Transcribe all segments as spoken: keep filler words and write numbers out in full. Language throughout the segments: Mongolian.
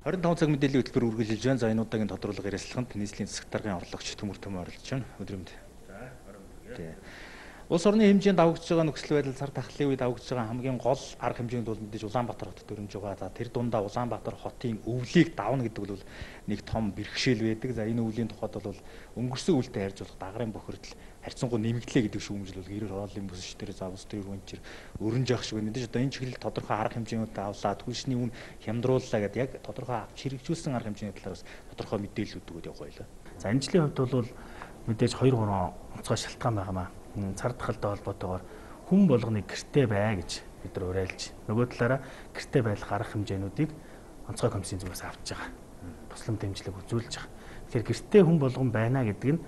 хорин таван цаг мэдээллийн хөтөлбөр үргэлжилж байна. За энэ удаагийн тодруулга ярилцлаганд нийслэлийн засаг даргын орлогч Төмөр Төмөө оролцож байна. Өдрөмд. За, орон. Улс орны хэмжээнд давагдж байгаа нөхцөл байдал цар тахлын үед давагдж байгаа хамгийн гол арга хэмжээнд бол мэдээж Улаанбаатар хот төрөмж байгаа. За тэр дундаа Улаанбаатар хотын өвлийг давна гэдэг бол нэг том бэрхшээл байдаг. За энэ өвлийн тухайд бол өнгөрсөн үлдээ харьцуулах дагарын бохирдол харьцангуй нэмэгдлээ гэдэг шүүмжил бол гэрээр хорооллын бүсч дээр за бус дээр үнчир өрнж явах шиг байна. Мэдээж одоо энэ чиглэл тодорхой арга хэмжээнүүд авлаа, түлшний үн хямдрууллаа гэдэг яг тодорхой авч хэрэгжүүлсэн арга хэмжээний талаар бас тодорхой мэдээлэл өгдөг явах байлаа. За энэ жилийн хувьд бол мэдээж хоёр гурван онцгой шалтгаан байгаамаа. Цар тахалтай холбоотойгоор хүн болгоныг гэртээ бай гэж бид нар уриалж, нөгөө талаараа гэртээ байх арга хэмжээнүүдийг онцгой комиссийн зүгээс авч байгаа. Туслам дэмжлэг үзүүлж байгаа. Тэгэхээр гэртээ хүн болгон байна гэдэг нь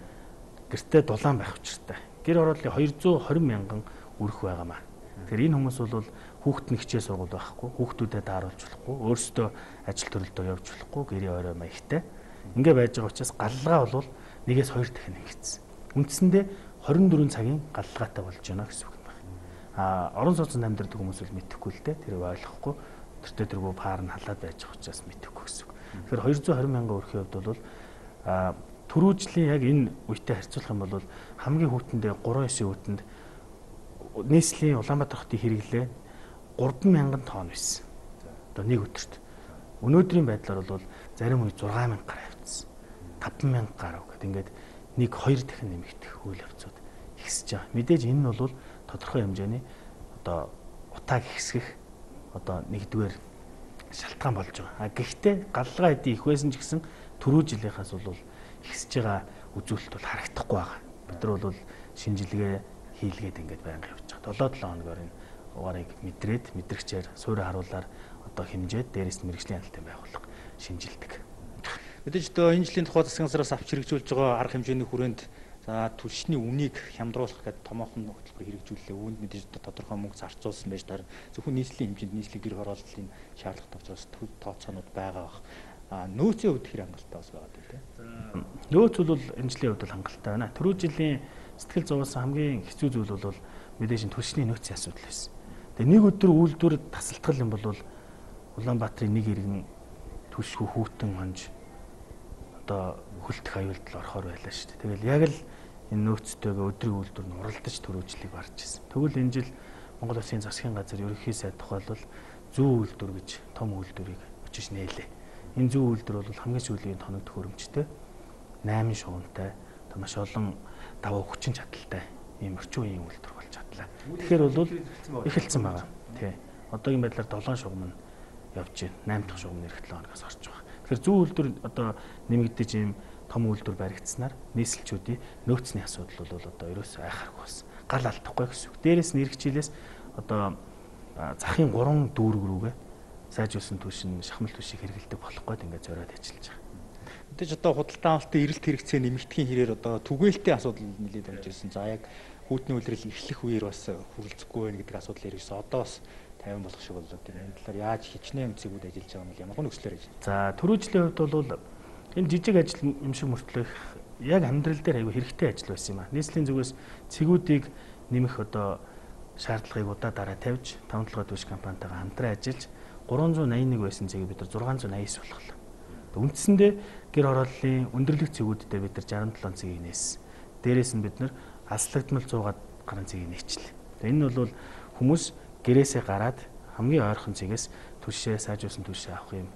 гэртээ дулаан байх учиртай. Гэр орооллын хоёр зуун хорин мянган өрх байгаамаа. Тэгэхээр энэ хүмүүс бол хүүхэд нь хичээл сургууль байхгүй, хүүхдүүдэд тааруулж болохгүй, өөрсдөө ажил төрөлдөө явж болохгүй, гэрийн орой маягтай. Ингээ байж байгаа учраас галлага бол нэгээс хоёр дахин ингэсэн. Үндсэндээ хорин дөрвөн цагийн галлагаатай болж байна гэсэн үг юм байна. А орон сууцнд амьдардаг хүмүүс бол мэдэхгүй л дээ. Тэр ойлгохгүй. Тэртээ тэргүй паар нь халаад байж байгаа учраас мэдэхгүй гэсэн үг. Тэгэхээр хоёр зуун хорин мянган өрхийн хувьд бол а түрүүжлийн яг энэ үетэй харьцуулах юм бол хамгийн хүүтэндээ гурван эсийн хүүтэнд нийслэлийн Улаанбаатар хотын хэрэглээ гурван мянган тонн байсан. Одоо нэг өдөрт. Өнөөдрийн байдлаар бол зарим үе зургаан мянга гаруй явцсан. таван мянга гаруй гэдэг ингээд нэг хоёр дахин нэмэгдэх үйл явцууд ихсэж байгаа. Мэдээж энэ нь бол тодорхой хэмжээний одоо утааг ихсгэх одоо нэгдүгээр шалтгаан болж байгаа. А гэхдээ галлага эдийн их байсан ч гэсэн түрүү жилийнхаас бол ихсэж байгаа үзүүлэлт бол харагдахгүй байгаа. Бид нар бол шинжилгээ хийлгээд ингээд байнга явж байгаа. долоо долоо хоногор энэ угаарыг мэдрээд мэдрэгчээр суурь харуулаар одоо хэмжээд дээрээс нь мэрэгжлийн хяналтын байгууллага шинжилдэг. Мэдээж одоо энэ жилийн тухай засгийн газраас авч хэрэгжүүлж байгаа арга хэмжээний хүрээнд за түлшний үнийг хямдруулах гэдэг томоохон хөтөлбөр хэрэгжүүллээ. Үүнд мэдээж тодорхой мөнгө зарцуулсан байж таар зөвхөн нийслэлийн хэмжээнд нийслэлийн гэр хорооллын шаардлагатай учраас тооцоонууд байгаа бах. А нөөцийн хувьд хэр хангалттай бас байгаа тийм. За нөөц бол энэ жилийн хувьд хангалттай байна. Түрүү жилийн сэтгэл зовоос хамгийн хэцүү зүйл бол мэдээж түлшний нөөцийн асуудал байсан. Тэгээ нэг өдөр үйлдвэр тасалдгал юм бол Улаанбаатарын нэг иргэн түлшгүй хүүтэн хонж одоо хөлтөх аюулдал орохоор байлаа шүү дээ. Тэгэл яг л энэ нөөцтэйгээ өдрийн үйлдвэр нь уралдаж төрөөжлийг барьж ирсэн. Тэгвэл энэ жил Монгол Улсын засгийн газар ерөнхий сайд тухайлбал зүүн үйлдвэр гэж том үйлдвэрийг өчөж нээлээ. Энэ зүүн үйлдвэр бол хамгийн сүүлийн тоног төхөөрөмжтэй найман шугамтай маш олон даваа хүчин чадалтай ийм орчин үеийн үйлдвэр болж чадлаа. Тэгэхээр бол эхэлсэн байгаа. Тий. Одоогийн байдлаар долоон шугам нь явж байна. найм дахь шугам нь эх долоо хоногоос орж байгаа. Тэгэхээр зүүн үйлдвэр одоо нэмэгдэж ийм том үйлдвэр баригдсанаар нийслэлчүүдийн нөөцний асуудал бол одоо ерөөсөө айхааргүй болсон. Гал алдахгүй гэсэн үг. Дээрээс нь ирэх жилээс одоо захын гурван дүүрэг рүүгээ сайжруулсан түвшин шахмал түвшийг хэрэгэлдэг болох гээд ингээд зориод ажиллаж байгаа. Мэдээж одоо худалдан авалтын эрэлт хэрэгцээ нэмэгдэхийн хэрээр одоо түгээлтийн асуудал нэлээд болж ирсэн. За яг хүүтний үйлрэл эхлэх үеэр бас хүрэлцэхгүй байх гэдэг асуудал ирсэн. Одоо бас тайван болох шиг боллоо. Тэр энэ талаар яаж хичнээн эмцэгүүд ажиллаж байгаа юм ямар нөхцлөөр хийж. За түрүү жилийн хувьд бол энэ жижиг ажил юм шиг мөртлөх яг амьдрал дээр аягүй хэрэгтэй ажил байсан юм аа. Нийслэлийн зүгээс цэгүүдийг нэмэх одоо шаардлагыг удаа дараа тавьж таван толгой түвш компанитайгаа хамтран ажиллаж гурван зуун найман нэг байсан цэгийг бид нар зургаан зуун найман девять болголоо. Үндсэндээ гэр хорооллын өндөрлөх цэгүүдтэй бид нар жарим долоон цэгийг нээсэн. Дээрээс нь бид нар аслагдмал зуун гаруй цэгийг нээчлээ. Энэ нь бол хүмүүс гэрээсээ гараад хамгийн ойрхон цэгээс түвшээ сайжруулсан түвшээ авах юм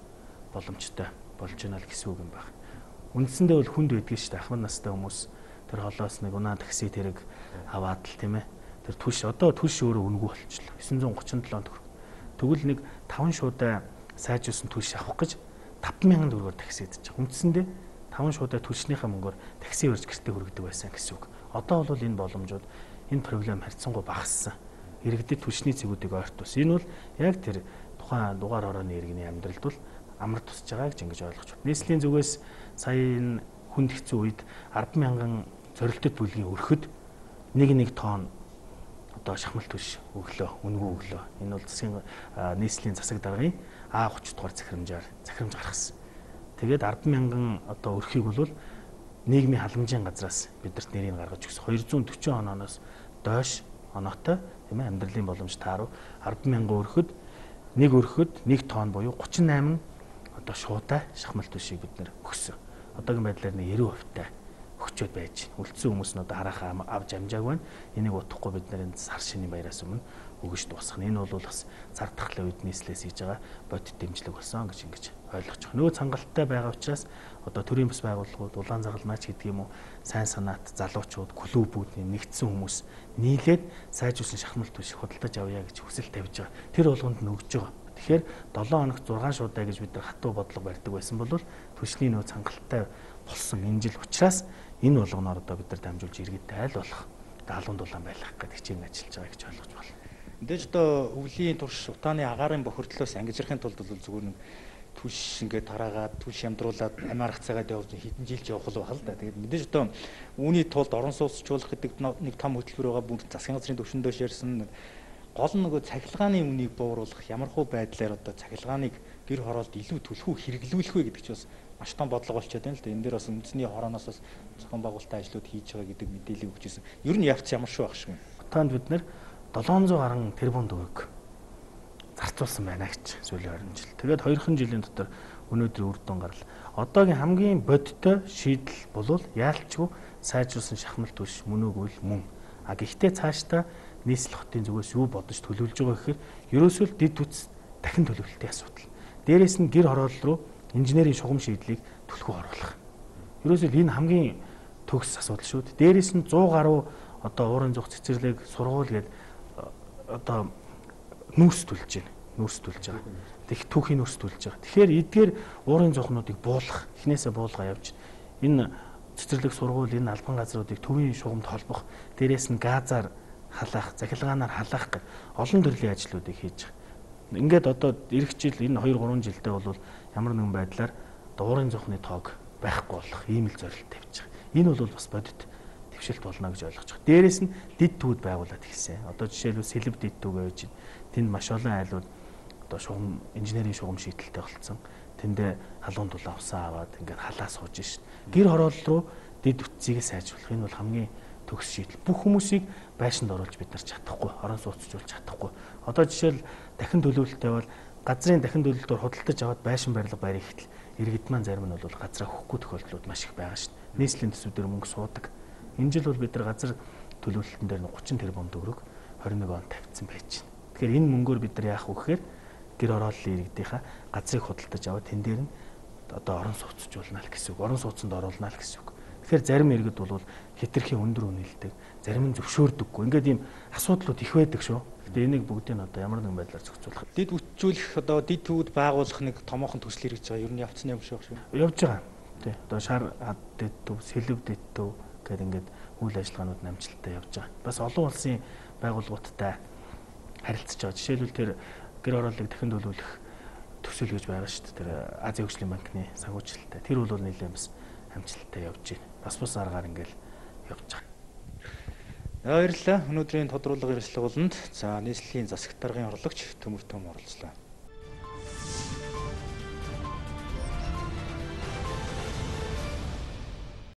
боломжтой болж байна л гэсэн үг юм байна. Үндсэндээ бол хүнд байдгийг шүү дээ. Ахмад настай хүмүүс тэр холоос нэг унаа такси тэрэг аваад л тийм ээ. Тэр түвш одоо түвш өөрөө үнэгүй болчихлоо. девять гурван седем төгрөг. Тэгвэл нэг таван шуудаа сайжруулсан түвш авах гэж таван мянган төгрөгөөр такси идэж байгаа. Үндсэндээ таван шуудаа түвшнийхээ мөнгөөр такси өрж гэртээ хүргэдэг байсан гэсэн үг. Одоо бол энэ боломжууд энэ проблем харьцангуй багассан. Иргэдэд түвшний цэгүүдийг ойрт тус. Энэ бол яг тэр тухайн дугаар хорооны иргэний амьдралд бол амар тусж байгаа гэж ингэж ойлгож байна. Нийслэлийн зүгээс сая энэ хүнд хэцүү үед арван мянган зорилттой бүлгийн өрхөд нэг нэг тонн одоо шахмал түвш өглөө, үнгүй өглөө. Энэ бол засгийн нийслэлийн засаг даргын А тридцать дугаар захирамжаар захирамж гаргасан. Тэгээд арван мянган одоо өрхийг бол нийгмийн халамжийн газраас бидэрт нэрийг гаргаж өгсөн. хоёр зуун дөрвөн онооноос доош оноотой тийм ээ амьдралын боломж тааруу арван мянган өрхөд нэг өрхөд нэг тонн буюу гурван восемь одоо шуудаа шахмал түшийг бид нэр өгсөн. Одоогийн байдлаар нэг ninety хувьтай өгчөөд байж байна. Үлдсэн хүмүүс нь одоо харахаа авч амжааг байна. Энийг утахгүй бид нэр сар шинийн баяраас өмнө өгөж дуусгах. Энэ бол бас цар тахлын үед нийслэлээс хийж байгаа бодит дэмжлэг болсон гэж ингэж ойлгож байгаа. Нөгөө цангалттай байгаа учраас одоо төрийн бас байгууллагууд, улаан загалмаач гэдэг юм уу, сайн санаат, залуучууд, клубүүд нэгдсэн хүмүүс нийлээд сайжруулсан шахмал түвшиг худалдаж авъя гэж хүсэл тавьж байгаа. Тэр болгонд нь өгж байгаа. Тэгэхээр seven хоногт six шуудаа гэж бид нар хатуу бодлого барьдаг байсан бол түвшний нөгөө цангалттай болсон энэ жил учраас энэ болгоноор одоо бид нар дамжуулж иргэдтэй айл болох даалгавар дулаан байлгах гэдэг хичээл ажиллаж байгаа гэж ойлгож байна. Мэдээж одоо өвлийн турш утааны агаарын бохирдлоос ангижрахын тулд бол зүгээр нэг түлш ингээд тараагаад түлш ямдруулаад амиарах цагаад явж хэдэн жил ч явах л байна л да. Тэгээд мэдээж одоо үүний тулд орон сууцчлуулах гэдэг нэг том хөтөлбөр байгаа. Бүгд засгийн газрын түвшиндөө ширсэн гол нь нөгөө цахилгааны үнийг бууруулах ямархуу байдлаар одоо цахилгааныг гэр хороолд илүү түлхүү хэрэглүүлэх вэ гэдэг чинь бас маш том бодлого болчиход байна л да. Энэ дээр бас үндэсний хорооноос бас зохион байгуулалтын ажлууд хийж байгаа гэдэг мэдээлэл өгч ирсэн. Ер нь явц ямар шүү байх шиг байна. Утаанд бид нэр seven hundred гаруй тэрбум төгрөг зарцуулсан байна гэж сүүлийн twenty жил. Тэгээд хоёрхан жилийн дотор өнөөдөр үр дүн гарал. Одоогийн хамгийн бодиттой шийдэл бол яалчгүй сайжруулсан шахмал түвш мөн үгүй мөн. А гэхдээ цаашдаа нийслэл хотын зүгээс юу бодож төлөвлөж байгаа гэхээр ерөөсөө л дид үтс дахин төлөвлөлтийн асуудал. Дээрээс нь гэр хороол руу инженерийн шугам шийдлийг түлхүү оруулах. Ерөөсөө энэ хамгийн төгс асуудал шүү дээ. Дээрээс нь one hundred гаруй одоо уурын зүг цэцэрлэг сургууль гэдэг одоо нүүрс төлж байна. Нүүрс төлж байгаа. Тэг түүхийн нүүрс төлж байгаа. Тэгэхээр эдгээр уурын зүгнуудыг буулгах, эхнээсээ буулгаа явж энэ цэцэрлэг сургууль, энэ албан газруудыг төвийн шугамд холбох, дээрээс нь газаар халаах, захилгаанаар халаах гэх олон төрлийн ажлуудыг хийж байгаа. Ингээд одоо эх жил энэ two three жилдээ бол ямар нэгэн байдлаар уурын зүхний тоог байхгүй болох ийм л зорилт тавьж байгаа. Энэ бол бас бодит твшилт болно гэж ойлгож байгаа. Дээрээс нь дид түүд байгуулад хэлсэн. Одоо жишээлбэл сэлб дид түүг байж байна. Тэнд маш олон айлууд одоо шугам инженерийн шугам шийдэлтэй болцсон. Тэндээ халуун дулаан усаа аваад ингээд халаа сууж шин. Гэр хороол руу дид үтцийг сайжруулах энэ бол хамгийн төгс шийдэл. Бүх хүмүүсийг байшинд оруулж бид нар чадахгүй, орон сууцжуулж чадахгүй. Одоо жишээл дахин төлөвлөлттэй бол газрын дахин төлөвлөлтөөр худалдаж аваад байшин барилга барих хэтэл иргэд маань зарим нь бол газраа өгөхгүй тохиолдлууд маш их байгаа шин. Нийслэлийн төсвүүдээр мөнгө суудаг. Энэ жил бол бид нар газар төлөвлөлтөн дээр thirty тэрбум төгрөг twenty-one онд тавьсан байж байна. Тэгэхээр энэ мөнгөөр бид нар яах вэ гэхээр гэр хорооллын иргэдийнхаа газрыг худалдаж аваад тэн дээр нь одоо орон сууцжуулна л гэсэн үг. Орон сууцанд оруулна л гэсэн үг. Тэгэхээр зарим иргэд бол хэтэрхий өндөр үнэлдэг, зарим нь зөвшөөрдөггүй. Ингээд ийм асуудлууд их байдаг шүү. Гэтэ энийг бүгдийг нь одоо ямар нэгэн байдлаар зохицуулах. Дид үтжүүлэх одоо дид төвд байгуулах нэг томоохон төсөл хэрэгж байгаа. Ер нь явцсан юм шиг байна шүү. Явж байгаа. Тий. Одоо шар хад дид төв, сэлб дид төв гэдэг ингээд үйл ажиллагаанууд намжилттай явж байгаа. Бас олон улсын байгууллагуудтай харилцаж байгаа. Жишээлбэл тэр гэр хорооллыг дахин төлөвлөх төсөл гэж байгаа шүү дээ. Тэр Азийн хөгжлийн банкны санхүүжилттэй. Тэр бол нэлээд бас амжилттай явж байна. Бас бас аргаар ингээл явж байгаа. Баярлалаа. Өнөөдрийн тодруулга ярилцлага болонд за нийслэлийн засаг даргын орлогч Төмөр Том оролцлоо.